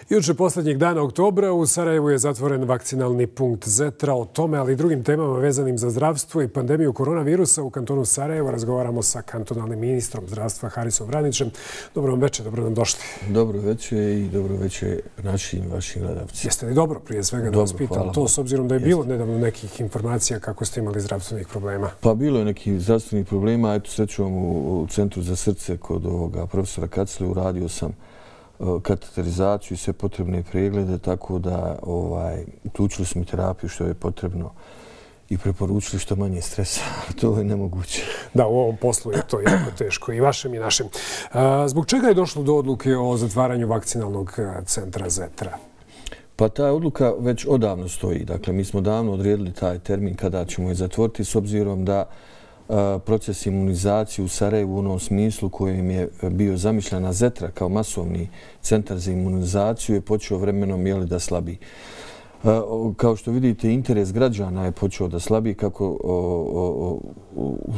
Juče posljednjeg dana oktobra u Sarajevu je zatvoren vakcinalni punkt Zetra. O tome, ali i drugim temama vezanim za zdravstvo i pandemiju koronavirusa u kantonu Sarajevo razgovaramo sa kantonalnim ministrom zdravstva Harisom Vranićem. Dobro vam večer, dobro nam došli. Dobro večer i dobro večer našim i vašim gledalcima. Jeste li dobro prije svega da vas pitam to, s obzirom da je bilo nedavno nekih informacija kako ste imali zdravstvenih problema? Pa bilo je nekih zdravstvenih problema. Eto, srećom u Centru za srce kod ovoga profesora Kacile uradio sam kateterizaciju i sve potrebne preglede, tako da uključili smo terapiju što je potrebno i preporučili što manje stresa. To je nemoguće. Da, u ovom poslu je to jako teško i vašem i našem. Zbog čega je došlo do odluke o zatvaranju vakcinalnog centra Zetra? Pa ta odluka već odavno stoji. Dakle, mi smo davno odredili taj termin kada ćemo je zatvoriti s obzirom da proces imunizacije u Sarajevu u onom smislu kojem je bio zamišljena Zetra kao masovni centar za imunizaciju je počeo vremenom da slabi. Kao što vidite, interes građana je počeo da slabi kako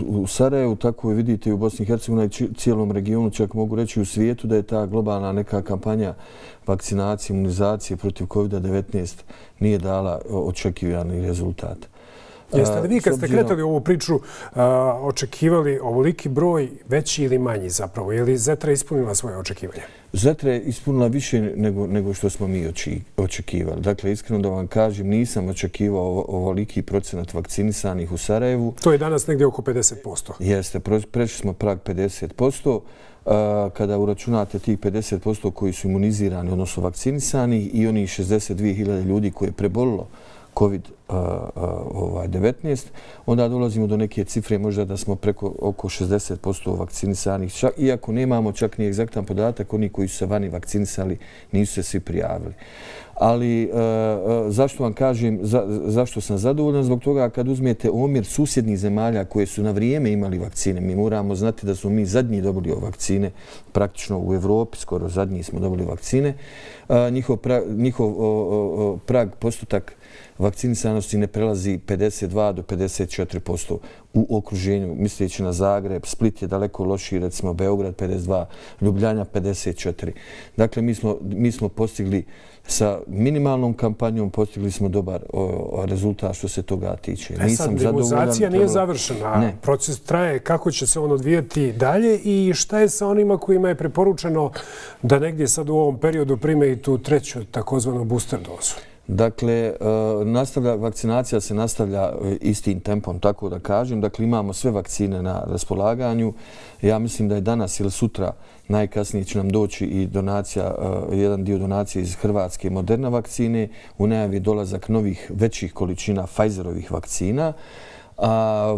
u Sarajevu, tako i vidite i u Bosni i Hercegovini i cijelom regionu, čak mogu reći u svijetu da je ta globalna neka kampanja vakcinacije, imunizacije protiv COVID-19 nije dala očekivani rezultat. Jeste li vi kad ste kretali ovu priču očekivali ovoliki broj, veći ili manji zapravo? Je li Zetra ispunila svoje očekivanja? Zetra je ispunila više nego što smo mi očekivali. Dakle, iskreno da vam kažem, nisam očekivao ovoliki procenat vakcinisanih u Sarajevu. To je danas negdje oko 50%. Jeste, prešli smo prag 50%. Kada uračunate tih 50% koji su imunizirani, odnosno vakcinisani, i onih 62.000 ljudi koje je prebolilo COVID-19, onda dolazimo do neke cifre možda da smo preko oko 60% vakcinisanih, iako nemamo čak ni egzaktan podatak, oni koji su se vani vakcinisali nisu se svi prijavili. Ali zašto vam kažem, zašto sam zadovoljan? Zbog toga kad uzmete omjer susjednih zemalja koje su na vrijeme imali vakcine, mi moramo znati da smo mi zadnji dobili vakcine, praktično u Evropi skoro zadnji smo dobili vakcine, njihov prag postotak vakcinisanosti ne prelazi 52 do 54% u okruženju, misleći na Zagreb. Split je daleko lošiji, recimo Beograd 52, Ljubljana 54. Dakle, mi smo postigli sa minimalnom kampanjom, postigli smo dobar rezultat što se toga tiče. Sad, imunizacija nije završena. Proces traje. Kako će se on odvijati dalje i šta je sa onima kojima je preporučeno da negdje sad u ovom periodu prime i tu treću takozvanu booster dozu? Dakle, vakcinacija se nastavlja istim tempom, tako da kažem. Dakle, imamo sve vakcine na raspolaganju. Ja mislim da je danas ili sutra najkasnije će nam doći i donacija, jedan dio donacije iz Hrvatske Moderna vakcine. U najavi dolazak novih većih količina Pfizerovih vakcina.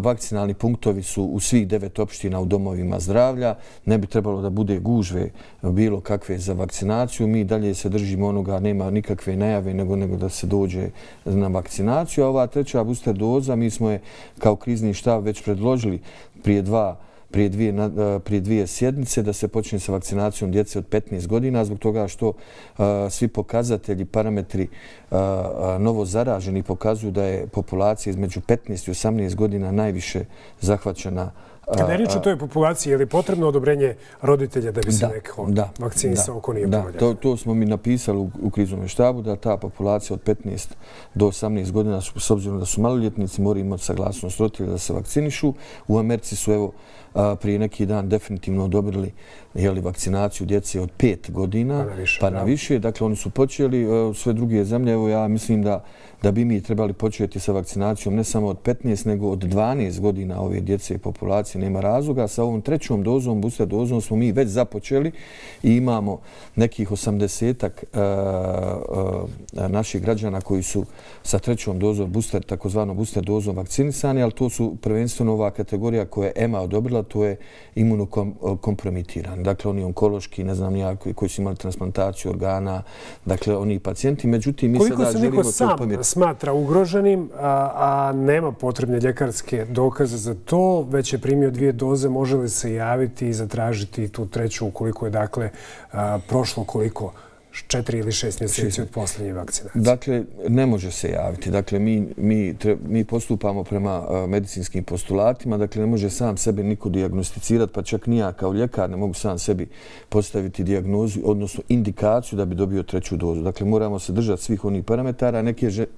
Vakcinalni punktovi su u svih 9 opština u domovima zdravlja. Ne bi trebalo da bude gužve bilo kakve za vakcinaciju. Mi dalje se držimo onoga, nema nikakve najave nego da se dođe na vakcinaciju. A ova treća booster doza, mi smo je kao krizni štab već predložili prije dvije sjednice da se počne sa vakcinacijom djece od 15 godina zbog toga što svi pokazatelji, parametri novo zaraženi pokazuju da je populacija između 15 i 18 godina najviše zahvaćena. Kada je riječ o toj populaciji, je li potrebno odobrenje roditelja da bi se neko vakcinisao ako nije povoljan? To smo mi napisali u kriznom štabu, da ta populacija od 15 do 18 godina, s obzirom da su maloljetnici, moraju imati saglasnost roditelja da se vakcinišu. U Americi su evo prije neki dan definitivno odobrili vakcinaciju djece od 5 godina pa na više. Dakle, oni su počeli, sve druge zemlje. Evo, ja mislim da bi mi trebali početi sa vakcinacijom ne samo od 15, nego od 12 godina ove djece i populacije. Nema razloga. Sa ovom trećom dozom, booster dozom, smo mi već započeli i imamo nekih 80-ak naših građana koji su sa trećom dozom, takozvanom booster dozom vakcinisani, ali to su prvenstveno ova kategorija koja je EMA odobrila, to je imunokompromitiran. Dakle, oni onkološki, ne znam ja, koji su imali transplantaciju organa, dakle, oni pacijenti. Međutim, mi sada želimo to pomjeriti. Koliko se niko smatra ugroženim, a nema potrebne ljekarske dokaze za to, već je primio 2 doze, može li se javiti i zatražiti tu treću ukoliko je, dakle, prošlo koliko 4 ili 6 mjeseci od posljednje vakcinacije? Dakle, ne može se javiti. Dakle, mi postupamo prema medicinskim postulatima. Dakle, ne može sam sebe niko dijagnosticirati, pa čak ni ja kao ljekar ne mogu sam sebi postaviti dijagnozu, odnosno indikaciju da bi dobio 3. dozu. Dakle, moramo se držati svih onih parametara.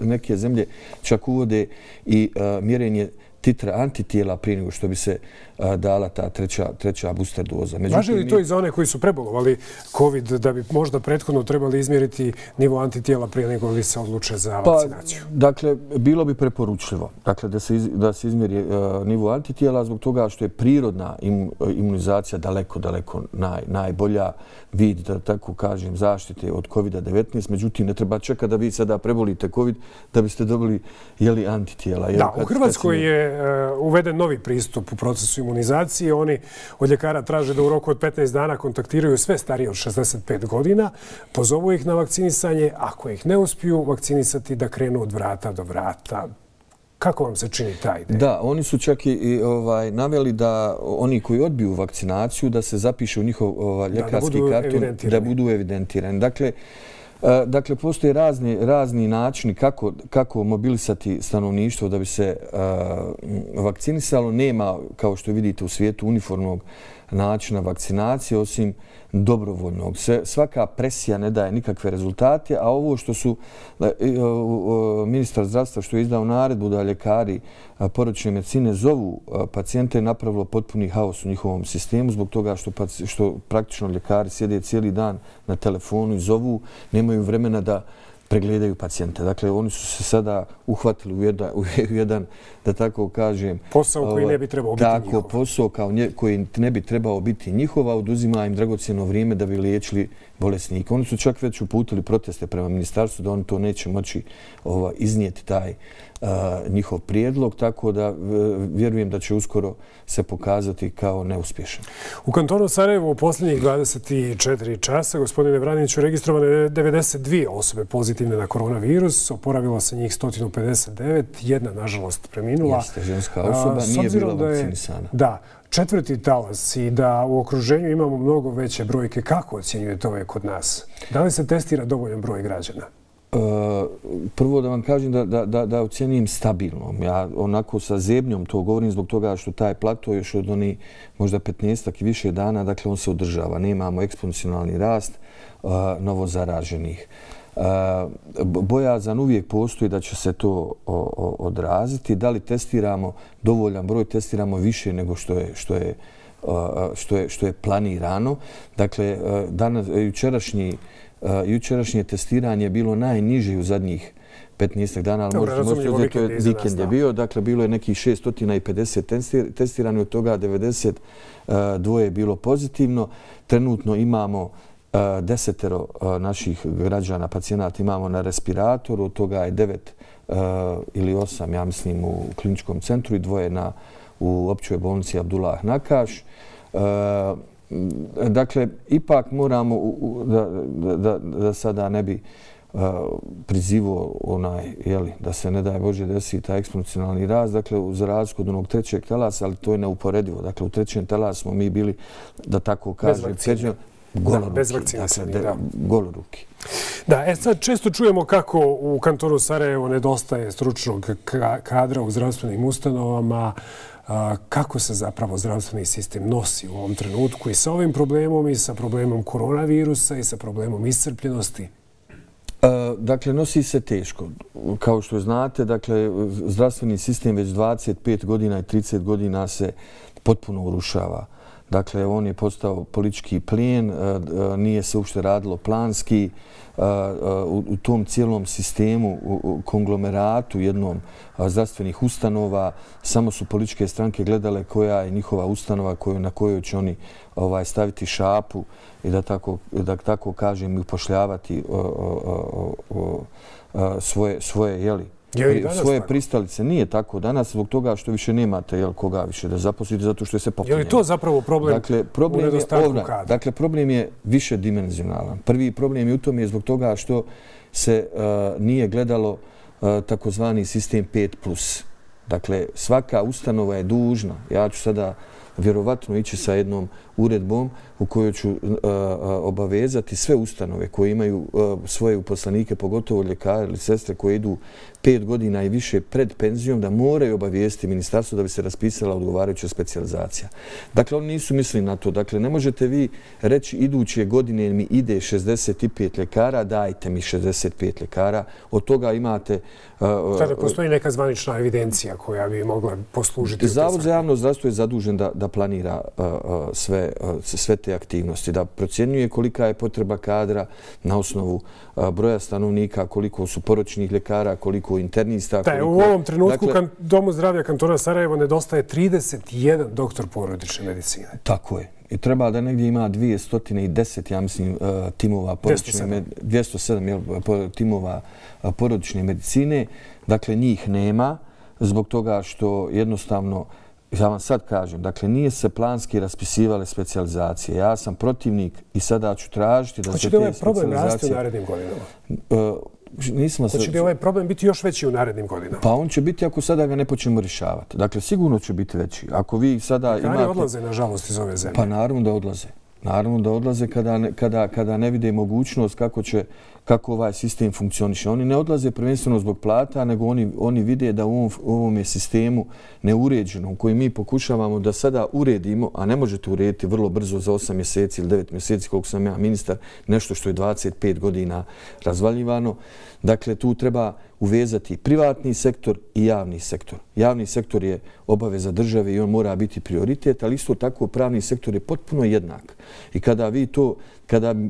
Neke zemlje čak uvode i mjerenje titra antitijela prije nego što bi se dala ta treća booster doza. Važi li to i za one koji su prebolovali COVID, da bi možda prethodno trebali izmjeriti nivo antitijela prije nego li se odluče za vakcinaciju? Dakle, bilo bi preporučljivo da se izmjeri nivo antitijela zbog toga što je prirodna imunizacija daleko najbolja vid, da tako kažem, zaštite od COVID-19. Međutim, ne treba čekati da vi sada prebolite COVID da biste dobili antitijela. Da, u Hrvatskoj je uveden novi pristup u procesu imunizacije. Oni od ljekara traže da u roku od 15 dana kontaktiraju sve starije od 65 godina, pozovu ih na vakcinisanje, ako ih ne uspiju vakcinisati da krenu od vrata do vrata. Kako vam se čini ta ideja? Da, oni su čak i naveli da oni koji odbiju vakcinaciju da se zapiše u njihov ljekarski karton, da budu evidentirani. Dakle, postoje razni načini kako mobilisati stanovništvo da bi se vakcinisalo. Nema, kao što vidite u svijetu, uniformnog načina vakcinacije, osim dobrovoljnog. Svaka presija ne daje nikakve rezultate, a ovo što su ministar zdravstva što je izdao naredbu da ljekari porodične medicine zovu pacijente je napravilo potpuni haos u njihovom sistemu zbog toga što praktično ljekari sjede cijeli dan na telefonu i zovu, nemaju vremena da pregledaju pacijente. Dakle, oni su se sada uhvatili u jedan, da tako kažem... Posao koji ne bi trebao biti njihov. Tako, posao koji ne bi trebao biti njihov, a oduzima im dragocjeno vrijeme da bi liječili bolesnike. Oni su čak već uputili proteste prema ministarstvu da oni to neće moći iznijeti taj njihov prijedlog, tako da vjerujem da će uskoro se pokazati kao neuspješan. U kantonu Sarajevo u posljednjih 24 časa, gospodine Vraniću, registrovane 92 osobe pozitivne na koronavirus, oporavilo se njih 159, jedna, nažalost, preminula. Jeste, ženska osoba, nije bila vakcinisana. Da, 4. talas i da u okruženju imamo mnogo veće brojke. Kako ocjenjujete ove kod nas? Da li se testira dovoljan broj građana? Prvo da vam kažem da ocjenim stabilnom. Ja onako sa zebnjom to govorim zbog toga što taj plato još od onih možda 15 i više dana, dakle on se održava. Nemamo eksponencijalni rast novozaraženih. Bojazan uvijek postoji da će se to odraziti. Da li testiramo dovoljan broj, testiramo više nego što je planirano. Dakle, jučerašnje testiranje je bilo najniže u zadnjih 15 dana, ali možete uzeti, to je vikend je bio. Dakle, bilo je nekih 650 testirani, od toga 92 je bilo pozitivno. Trenutno imamo 10 naših građana, pacijenata imamo na respiratoru, od toga je 9 ili 8, ja mislim, u kliničkom centru i 2 u općoj bolnici Abdullah Nakaš. Dakle, ipak moramo, da sada ne bi prizivao da se ne daje Bože desi taj eksponencijalni rast, dakle, za razliku od onog 3. talasa, ali to je neuporedivo. Dakle, u 3. talasu smo mi bili, da tako kažem, bez vakcinacije, da. Goloruki. Da, sad često čujemo kako u kantonu Sarajevo nedostaje stručnog kadra u zdravstvenim ustanovama. Kako se zapravo zdravstveni sistem nosi u ovom trenutku i sa ovim problemom i sa problemom koronavirusa i sa problemom iscrpljenosti? Dakle, nosi se teško. Kao što znate, dakle, zdravstveni sistem već 25 godina i 30 godina se potpuno urušava. Dakle, on je postao politički plijen, nije se uopšte radilo planski. U tom cijelom sistemu, u konglomeratu jednom zdravstvenih ustanova, samo su političke stranke gledale koja je njihova ustanova na kojoj će oni staviti šapu i da tako kažem upošljavati svoje pristalice. Nije tako danas zbog toga što više nemate koga više da zaposlite zato što je se popunjeno. Je li to zapravo problem u nedostatku kadra? Dakle, problem je više dimenzionalan. Prvi problem je u tome zbog toga što se nije gledalo takozvani sistem 5+. Dakle, svaka ustanova je dužna. Ja ću sada vjerovatno ići sa jednom uredbom u kojoj ću obavezati sve ustanove koje imaju svoje uposlenike, pogotovo ljekare ili sestre koje idu 5 godina i više pred penzijom, da moraju obavijesti ministarstvo da bi se raspisala odgovarajuća specijalizacija. Dakle, oni nisu mislili na to. Dakle, ne možete vi reći iduće godine mi ide 65 ljekara, dajte mi 65 ljekara. Od toga imate... Sada postoji neka zvanična evidencija koja bi mogla poslužiti. Zavod za javno zdravstvo je zadužen da planira sve te aktivnosti, da procjenjuje kolika je potreba kadra na osnovu broja stanovnika, koliko su poročnih ljekara, koliko internista. U ovom trenutku Domu zdravlja kantona Sarajevo nedostaje 31 doktor porodične medicine. Tako je. I treba da negdje ima 210, ja mislim, timova porodične, 207 timova porodične medicine. Dakle, njih nema zbog toga što jednostavno, ja vam sad kažem, dakle, nije se planski raspisivale specijalizacije. Ja sam protivnik i sada ću tražiti da se te specijalizacije... Hoće li ovaj problem rasti u narednim godinama? Hoće li ovaj problem biti još veći u narednim godinama? Pa on će biti ako sada ga ne počnemo rješavati. Dakle, sigurno će biti veći. Ako vi sada imate... Ljekari odlaze, nažalost, iz ove zemlje. Pa naravno da odlaze. Naravno da odlaze kada ne vide mogućnost kako ovaj sistem funkcioniše. Oni ne odlaze prvenstveno zbog plata, nego oni vide da u ovom je sistemu neuređenom koji mi pokušavamo da sada uredimo, a ne možete urediti vrlo brzo za 8 mjeseci ili 9 mjeseci koliko sam ja ministar, nešto što je 25 godina razvaljivano. Dakle, tu treba uvezati privatni sektor i javni sektor. Javni sektor je obaveza države i on mora biti prioritet, ali isto tako pravni sektor je potpuno jednak. I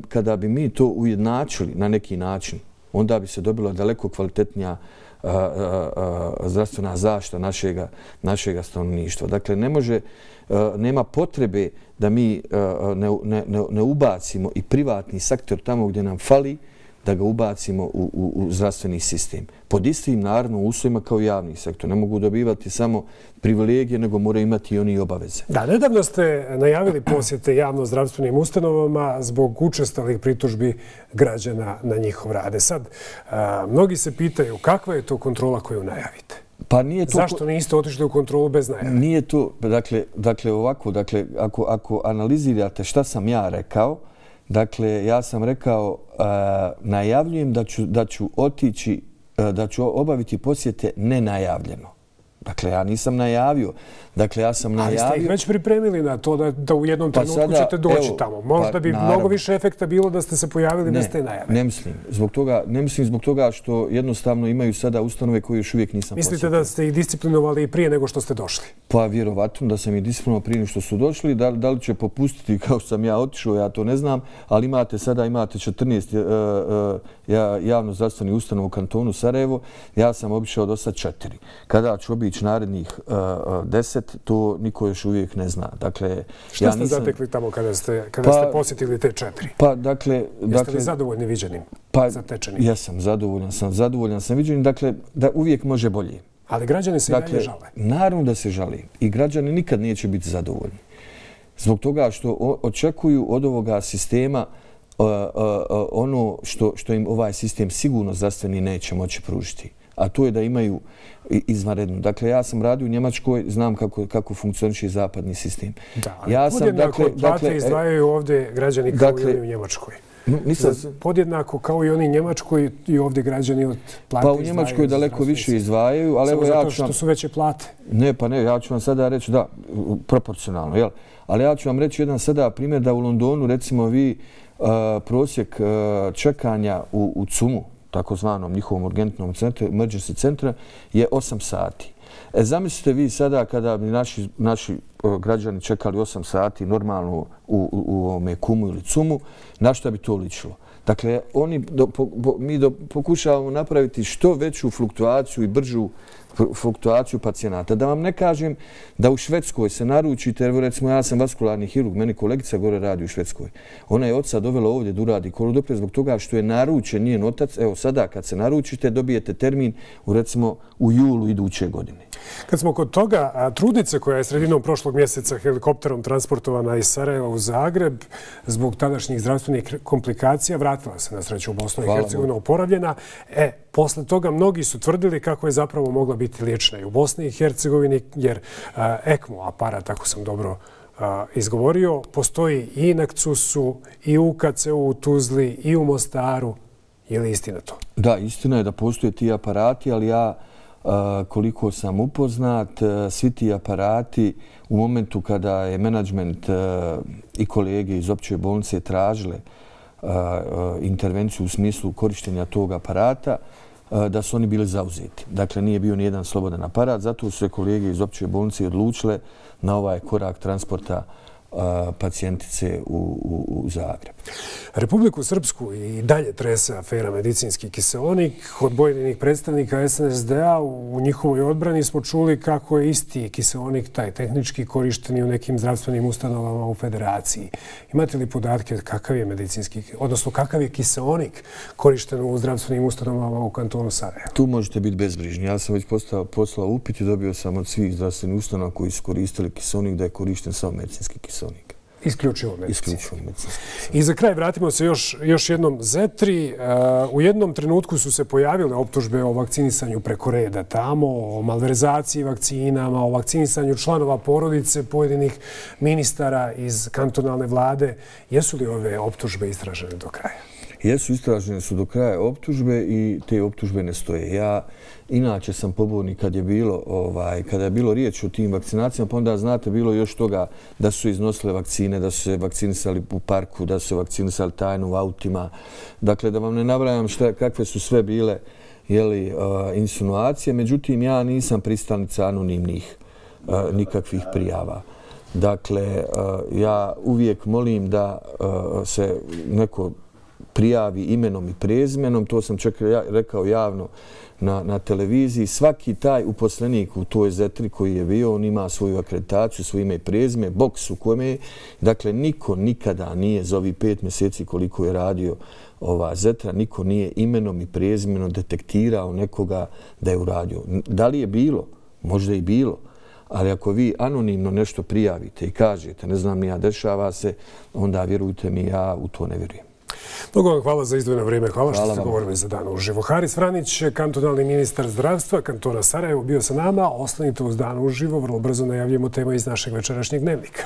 kada bi mi to ujednačili na neki način, onda bi se dobila daleko kvalitetnija zdravstvena zaštita našega stanovništva. Dakle, nema potrebe da mi ne ubacimo i privatni sektor tamo gdje nam fali, da ga ubacimo u zdravstveni sistem. Pod istim, naravno, uslovima kao javni sektor. Ne mogu dobivati samo privilegije, nego moraju imati i oni obaveze. Da, nedavno ste najavili posjete javno-zdravstvenim ustanovama zbog učestalih pritužbi građana na njihov rade. Sad, mnogi se pitaju kakva je to kontrola koju najavite? Pa nije to... Zašto niste otišli u kontrolu bez najave? Nije to, dakle, ovako, ako analizirate šta sam ja rekao, dakle, ja sam rekao, najavljujem da ću otići, da ću obaviti posjete nenajavljeno. Dakle, ja nisam najavio. Dakle, ja sam najavio... Ali ste ih već pripremili na to da u jednom trenutku ćete doći tamo. Možda bi mnogo više efekta bilo da ste se pojavili bez te najave. Ne mislim zbog toga što jednostavno imaju sada ustanove koje još uvijek nisam posjetio. Mislite da ste ih disciplinovali i prije nego što ste došli? Pa vjerovatno da sam ih disciplinovao prije nego što su došli. Da li će popustiti kao što sam ja otišao, ja to ne znam. Ali sada imate 14 javno-zdravstvenih ustanova u kantonu Sarajevo. Ja sam obišao do sad 4. Kada ću obići narednih 10, to niko još uvijek ne zna. Dakle, šta ste zatekli tamo kada ste posjetili te 4? Pa, dakle... Jeste li zadovoljni viđenim, zatečenim? Jesam, zadovoljan sam viđenim. Dakle, da uvijek može bolje. Ali građani se i dalje žale. Naravno da se žale. I građani nikad neće biti zadovoljni. Zbog toga što očekuju od ovoga sistema ono što im ovaj sistem sigurno zdravstveni neće moći pružiti. A to je da imaju izvanredno. Dakle, ja sam radio u Njemačkoj, znam kako funkcioniše zapadni sistem. Da, ali podjednako plate izdvajaju ovdje građani kao i oni u Njemačkoj. Podjednako kao i oni u Njemačkoj i ovdje građani od plate izdvajaju. Pa u Njemačkoj daleko više izdvajaju, ali evo ja ću vam... Zato što su veće plate. Ne, pa ne, ja ću vam sada reći, da, proporcionalno, jel? Ali ja ću vam reći jedan sada primjer da u Londonu, recimo vi, prosjek čekanja u CUM-u, takozvanom njihovom urgentnom centru, emergency centra, je 8 sati. Zamislite vi sada kada bi naši građani čekali 8 sati normalno u KUM-u ili CUM-u, na što bi to ličilo? Dakle, mi pokušavamo napraviti što veću fluktuaciju i bržu fluktuaciju pacijenata. Da vam ne kažem da u Švedskoj se naručite, evo recimo ja sam vaskularni hirurg, meni kolegica gore radi u Švedskoj. Ona je oca dovela ovdje da uradi kolodopre zbog toga što je naručen njen otac. Evo sada kad se naručite dobijete termin recimo u julu iduće godine. Kad smo kod toga, trudnice koja je sredinom prošlog prošlog mjeseca helikopterom transportovana iz Sarajeva u Zagreb zbog tadašnjih zdravstvenih komplikacija. Vratila se na sreću u Bosnu i Hercegovinu oporavljena. Posle toga mnogi su tvrdili kako je zapravo mogla biti liječena i u Bosni i Hercegovini, jer ECMO aparat, ako sam dobro izgovorio, postoji i na KCUS-u, i u KCU u Tuzli, i u Mostaru. Je li istina to? Da, istina je da postoje ti aparati, ali ja, koliko sam upoznat, svi ti aparati u momentu kada je menadžment i kolege iz opće bolnice tražile intervenciju u smislu korištenja tog aparata, da su oni bili zauzeti. Dakle, nije bio nijedan slobodan aparat, zato su se kolege iz opće bolnice odlučile na ovaj korak transporta pacijentice u Zagreb. Republiku Srpsku i dalje trese afera medicinski kiseonik. Od pojedinih predstavnika SNSD-a u njihovoj odbrani smo čuli kako je isti kiseonik, taj tehnički, korišten i u nekim zdravstvenim ustanovama u Federaciji. Imate li podatke kakav je medicinski, odnosno kakav je kiseonik korišten u zdravstvenim ustanovama u kantonu Sarajevo? Tu možete biti bezbrižni. Ja sam već poslao upit i dobio sam od svih zdravstvenih ustanova koji su koristili kiseonik da je korišten samo medicinski kiseonik. Isključivo medicinski. Isključivo medicinski. I za kraj vratimo se još jednom Zetri. U jednom trenutku su se pojavile optužbe o vakcinisanju preko reda tamo, o malverzaciji vakcinama, o vakcinisanju članova porodice pojedinih ministara iz kantonalne vlade. Jesu li ove optužbe istražene do kraja? Jesu, istražene su do kraja optužbe i te optužbe ne stoje. Ja inače sam pobornik kada je bilo riječ o tim vakcinacijama, pa onda znate bilo još toga da su iznosile vakcine, da su se vakcinisali u parku, da su se vakcinisali tajno u autima. Dakle, da vam ne nabrajam kakve su sve bile insinuacije, međutim ja nisam pristalica anonimnih nikakvih prijava. Dakle, ja uvijek molim da se neko prijavi imenom i prezimenom, to sam čak rekao javno na televiziji. Svaki taj uposlenik u toj Zetri koji je bio, on ima svoju akreditaciju, svoje ime i prezime, boks u kome je. Dakle, niko nikada nije za ovih 5 mjeseci koliko je radio ova Zetra, niko nije imenom i prezimenom detektirao nekoga da je uradio. Da li je bilo? Možda i bilo. Ali ako vi anonimno nešto prijavite i kažete, ne znam, nija dešava se, onda vjerujte mi, ja u to ne vjerujem. Mnogo vam hvala za izdvojeno vrijeme. Hvala što ste govorili za Dan uživo. Haris Vranić, kantonalni ministar zdravstva kantona Sarajevo, bio sa nama. Ostanite uz Dan uživo. Vrlo brzo najavljujemo teme iz našeg večerašnjeg dnevnika.